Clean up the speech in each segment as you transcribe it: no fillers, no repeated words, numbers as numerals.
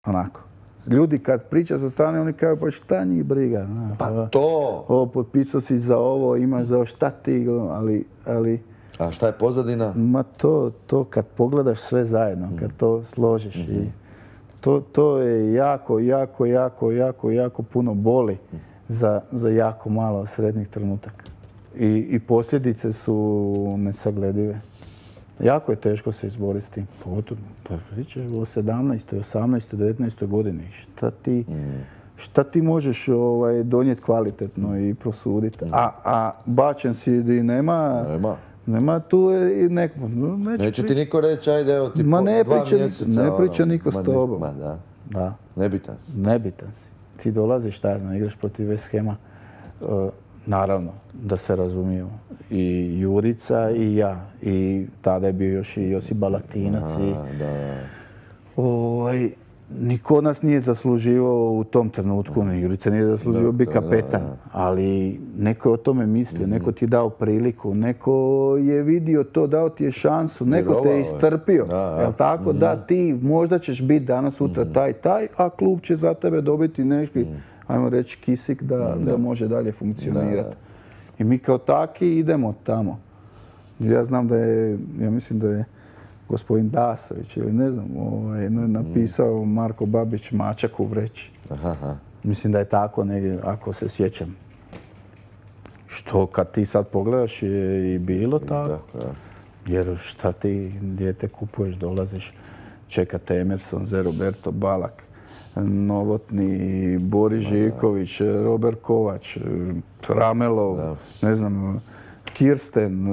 onako. Ljudi kad priča sa strane, oni kažu pa šta njih briga. Pa to! Ovo, potpisao si za ovo, imaš za ovo, šta ti, ali... A šta je pozadina? Ma to kad pogledaš sve zajedno, kad to složiš i to je jako puno boli za jako malo srednjih trenutaka. I posljedice su nesagledive. Jako je teško se izboriti s tim. Pogotovo, pričaš o 17. 18. 19. godini. Šta ti možeš donijeti kvalitetno i prosuditi? A bačen si di nema tu i neko... Neće ti niko reći, ajde, evo ti 2 mjeseca. Ne priča niko s tobom. Da. Nebitan si. Nebitan si. Ti dolaziš, šta ja znam, igraš protiv West Hama. Naravno, da se razumijemo. I Jurica i ja. I tada je bio još i Josip Balatinac. Niko nas nije zasluživao u tom trenutku. Jurica nije zasluživao biti kapetan. Ali neko je o tome mislio, neko ti je dao priliku, neko je vidio to, dao ti je šansu, neko te je istrpio. Jel tako? Da, ti možda ćeš biti danas, sutra taj, a klub će za tebe dobiti neki, ajmo reći, kisik da može dalje funkcionirati. I mi kao taki idemo tamo. Ja znam ja mislim da je gospodin Dasović ili ne znam, napisao Marko Babić mačak u vreći. Mislim da je tako negdje, ako se sjećam. Što kad ti sad pogledaš je i bilo tako. Jer šta ti dijete kupuješ, dolaziš, čekate Emerson, Roberto Balak, Novotni, Boris Živković, Robert Kovač, Ramelov, ne znam, Kirsten,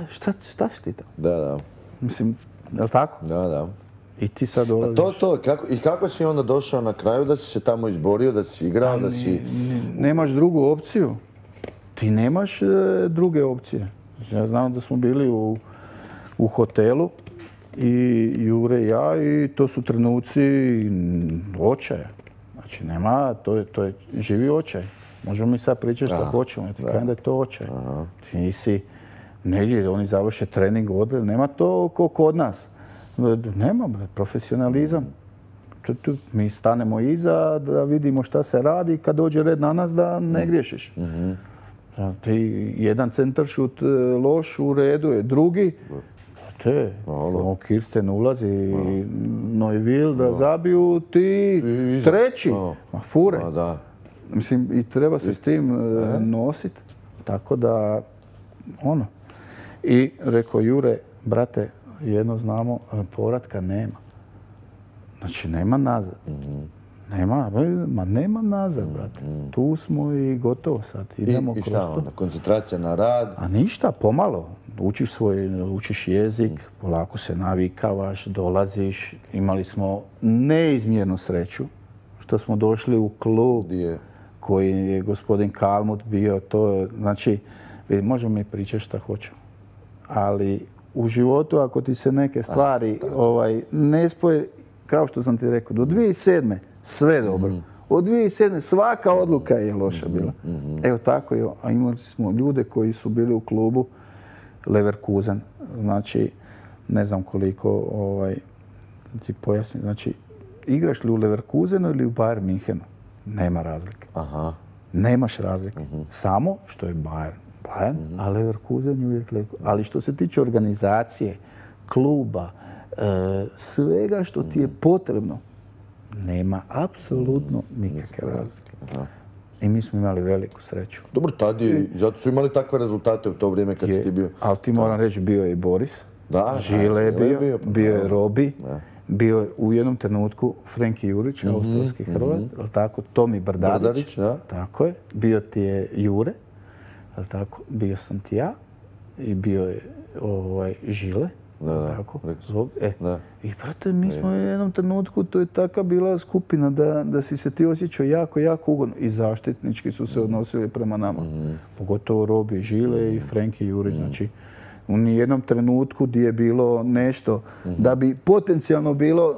šta si ti tamo? Da. Mislim, je li tako? Da. I ti sad dolaziš. I kako si onda došao na kraju da si se tamo izborio, da si igrao, da si... Nemaš drugu opciju. Ti nemaš druge opcije. Ja znam da smo bili u hotelu i Jure i ja i to su trenuci očaja. Znači, nema, to je živi očaj. Možemo mi sad pričati što hoćemo. Ti kažem da je to očaj. Ti nisi... Negdje oni završe trening, odre, nema to kod nas. Nema, profesionalizam. Mi stanemo iza da vidimo šta se radi i kad dođe red na nas da ne griješiš. Ti jedan centaršut loš u redu je, drugi, Kirsten ulazi, Neuville da zabiju, ti treći. Ma fure. Mislim, i treba se s tim nositi. Tako da, I rekao, Jure, brate, jedno znamo, povratka nema. Znači, nema nazad. Nema nazad, brate. Tu smo i gotovo sad. Idemo I šta onda? Koncentracija na rad? A ništa, pomalo. Učiš jezik, polako se navikavaš, dolaziš. Imali smo neizmjernu sreću što smo došli u klub koji je gospodin Kalmut bio. Znači, možemo mi pričati šta hoćemo. Ali u životu, ako ti se neke stvari ne spoje, kao što sam ti rekao, do 2007. sve dobro. Od 2007. svaka odluka je loša bila. Evo tako je. A imali smo ljude koji su bili u klubu Leverkusen. Znači, ne znam koliko ti pojasnim. Znači, igraš li u Leverkusenu ili u Bayern Münchenu? Nema razlike. Nemaš razlike. Samo što je Bayern, a Leverkusen je uvijek Leverkusen. Ali što se tiče organizacije, kluba, svega što ti je potrebno, nema apsolutno nikakve razlike. I mi smo imali veliku sreću. Dobro, zato su imali takve rezultate u to vrijeme kad si ti bio. Ali ti moram reći, bio je i Boris, Žile je bio je Robi, bio je u jednom trenutku Frenki Jurić, australski Hrvat, tako, Tomi Brdarić, tako je, bio ti je Jure, tako, bio sam ti ja i bio je Žile. I brate, mi smo u jednom trenutku, to je taka bila skupina da si se ti osjećao jako, jako ugodno. I zaštitnički su se odnosili prema nama. Pogotovo Robi, Žile i Frenki Jurić. Znači, u nijednom trenutku gdje je bilo nešto da bi potencijalno bilo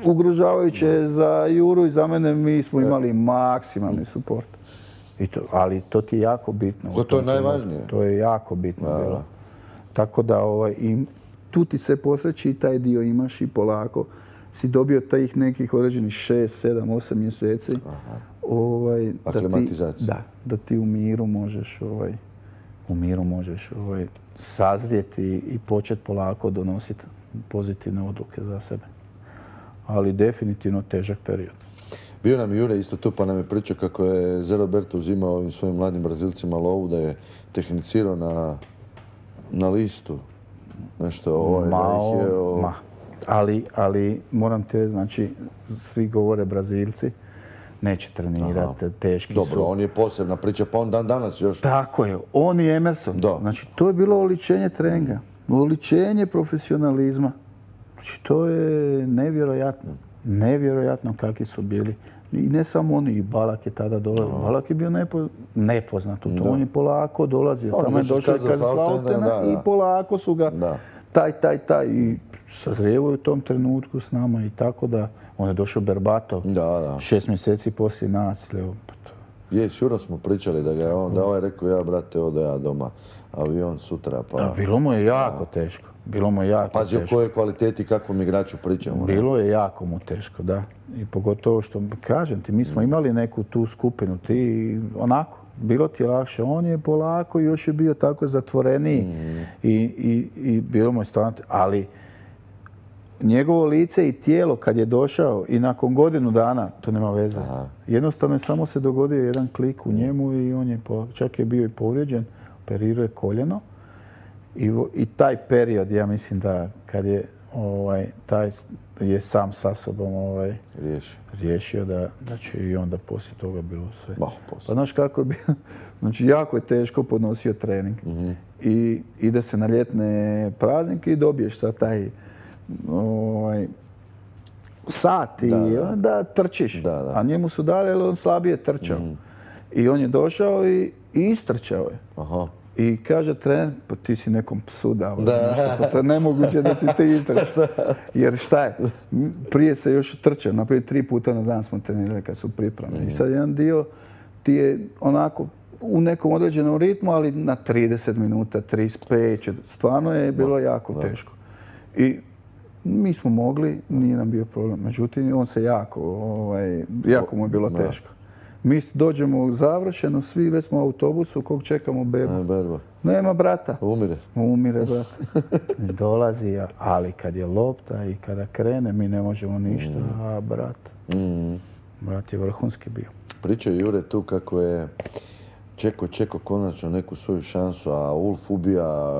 ugrožavajuće za Juru i za mene, mi smo imali maksimalni suport. Ali to ti je jako bitno. To je najvažnije. To je jako bitno bilo. Tako da tu ti se posreći i taj dio imaš i polako si dobio tih nekih određenih 6, 7, 8 mjeseci. Da ti u miru možeš sazrijeti i početi polako donositi pozitivne odluke za sebe. Ali definitivno težak period. Bio nam Jure isto tu pa nam je pričao kako je Zé Roberto uzimao ovim svojim mladim Brazilcima lovu, da je tehnicirao na listu. Nešto Ali moram te, znači, svi govore Brazilci, neće trenirati, teški su. Dobro, on je posebna priča, pa on dan danas još... Tako je, on i Emerson. Znači, to je bilo oličenje treninga, oličenje profesionalizma. Znači, to je nevjerojatno. Nevjerojatno kakvi su bili. I ne samo oni, i Balak je tada dolazio. Balak je bio nepoznat u to. On je polako dolazio. Tamo je došao iz Kaiserslautena i polako su ga taj i sazrijevaju u tom trenutku s nama i tako da on je došao Berbatov 6 mjeseci poslije nas. Šuro smo pričali da ga je on, da ovaj rekao ja brate, odo ja doma, avion sutra pa... Bilo mu je jako teško. Pazi o kojoj kvaliteti, kakvom igraču pričamo. Bilo je jako mu teško, da. I pogotovo što, kažem ti, mi smo imali neku tu skupinu, ti onako, bilo ti je lakše. On je polako, još je bio tako zatvoreniji i bilo mu je stvarno, ali njegovo lice i tijelo kad je došao i nakon godinu dana, to nema veze. Jednostavno je samo se dogodio jedan klik u njemu i on je, čak je bio i povrijeđen, operirao je koljeno. I taj period, ja mislim da kad je taj je sam sa sobom riješio da će i onda poslije toga bilo sve. Pa znaš kako je bilo? Znači, jako je teško podnosio trening. I ide se na ljetne praznike i dobiješ sad taj sat i da trčiš. A njemu su dali, ali on slabije trčao. I on je došao i istrčao je. I kaže trener, pa ti si nekom psu dao nešto, pa to je nemoguće da si ti istrčao. Jer šta je? Prije se još trčao, naprijed 3 puta na dan smo trenirali kad su pripreme. I sad jedan dio ti je onako u nekom određenom ritmu, ali na 30 minuta, 35, stvarno je bilo jako teško. I mi smo mogli, nije nam bio problem. Međutim, on se jako mu je bilo teško. Mi dođemo završeno, svi već smo u autobusu, kog čekamo bebu. Nema brata. Umire brata. Dolazi, ali kad je lopta i kada krene, mi ne možemo ništa, a brat je vrhunski bio. Pričao je Jure tu kako je čekao konačno neku svoju šansu, a Ulf ubija,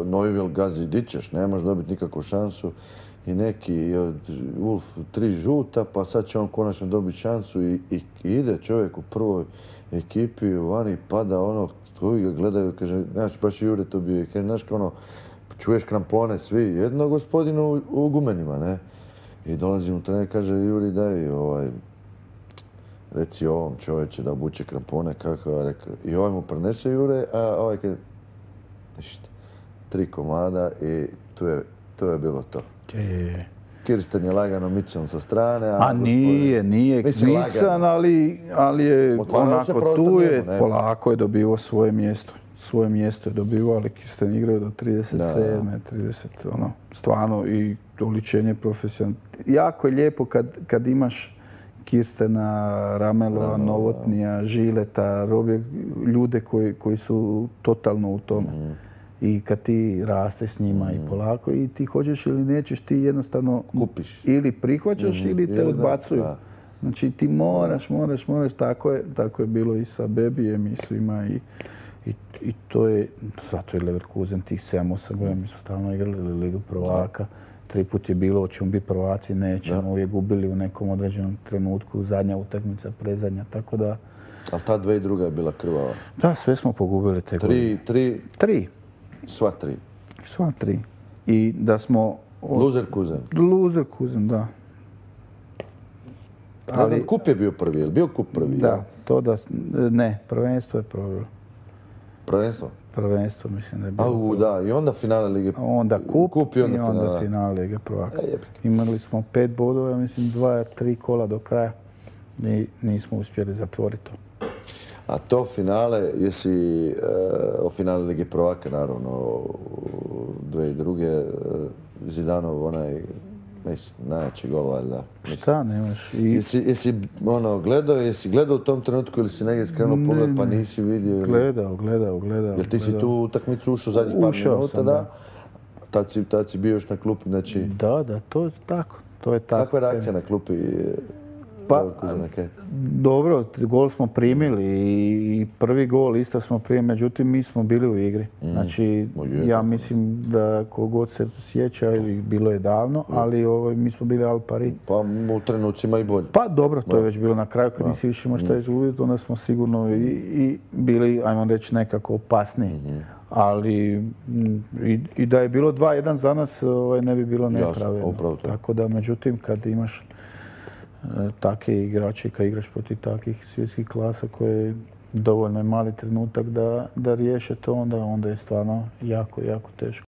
Neuville gazi, di ćeš, ne možeš dobiti nikakvu šansu. I neki Ulf 3 žuta, pa sad će on konačno dobiti šansu i ide čovjek u prvoj ekipi, vani pada ono, koji ga gledaju, kaže, znaš, baš Jure to bio, kaže, znaš, čuješ krampone svi, jedno gospodinu u gumenima, ne? I dolazim u trener, kaže, Juri, daj, reci ovom čovječe da obuče krampone, kako je rekao. I ovaj mu prenese Jure, a ovaj kaže, ništa, 3 komada i to je bilo to. Kirsten je lagano mican sa strane. A nije mican, ali je onako tu je, polako je dobivao svoje mjesto. Svoje mjesto je dobivao, ali Kirsten igrao do 37. 30, stvarno i oličenje profesionalno. Jako je lijepo kad imaš Kirstena, Ramelova, Novotnija, Žileta, Robje, ljude koji su totalno u tome. I kad ti rasteš s njima i polako i ti hoćeš ili nećeš, ti jednostavno kupiš. Ili prihvaćaš ili te odbacuju. Znači ti moraš, tako je bilo i sa Bebijem i svima i to je, zato je Leverkusen tih 7-8 godina, mi smo stalno igrali Ligu prvaka. 3 put je bilo, hoćemo biti prvaci, nećemo, uvijek gubili u nekom određenom trenutku, zadnja utakmica, predzadnja, tako da... Ali ta 2002. je bila krvava? Da, sve smo pogubili te godine. 3. Sva 3? Sva 3. I da smo... Leverkusen, da. Ne znam, kup je bio prvi, je li bio kup prvi? Da, ne, prvenstvo je probilo. Prvenstvo? Prvenstvo, mislim da je bilo. Da, i onda finale Lige... Onda kup i onda finale Lige prvaka. Imali smo 5 bodova, mislim 2-3 kola do kraja i nismo uspjeli zatvoriti to. A to finale, jesi o finale Lige prvaka, naravno, 2002. Zidanov onaj Mislim, najjači gol, valjda. Šta nemaš? Jesi gledao u tom trenutku ili si negdje skrenuo pogled pa nisi vidio? Gledao. Jer ti si tu utakmicu ušao zadnjih par minuta, da? Tad si bio još na klupi, znači... Da, to je tako. Kakva je reakcija na klupi? Pa, dobro, gol smo primili i prvi gol isto smo primili, međutim mi smo bili u igri. Znači, ja mislim da kogod se sjeća, bilo je davno, ali mi smo bili al pari. Pa u trenucima i bolje. Pa dobro, to je već bilo na kraju, kad nisi više imao šta izgubiti, onda smo sigurno i bili, ajmo reći, nekako opasniji. Ali i da je bilo 2-1 za nas, ne bi bilo nepravedno. Tako da, međutim, kad imaš takve igrače, kad igraš protiv takvih svjetskih klasa koje dovoljno je mali trenutak da riješe to, onda je stvarno jako, jako teško.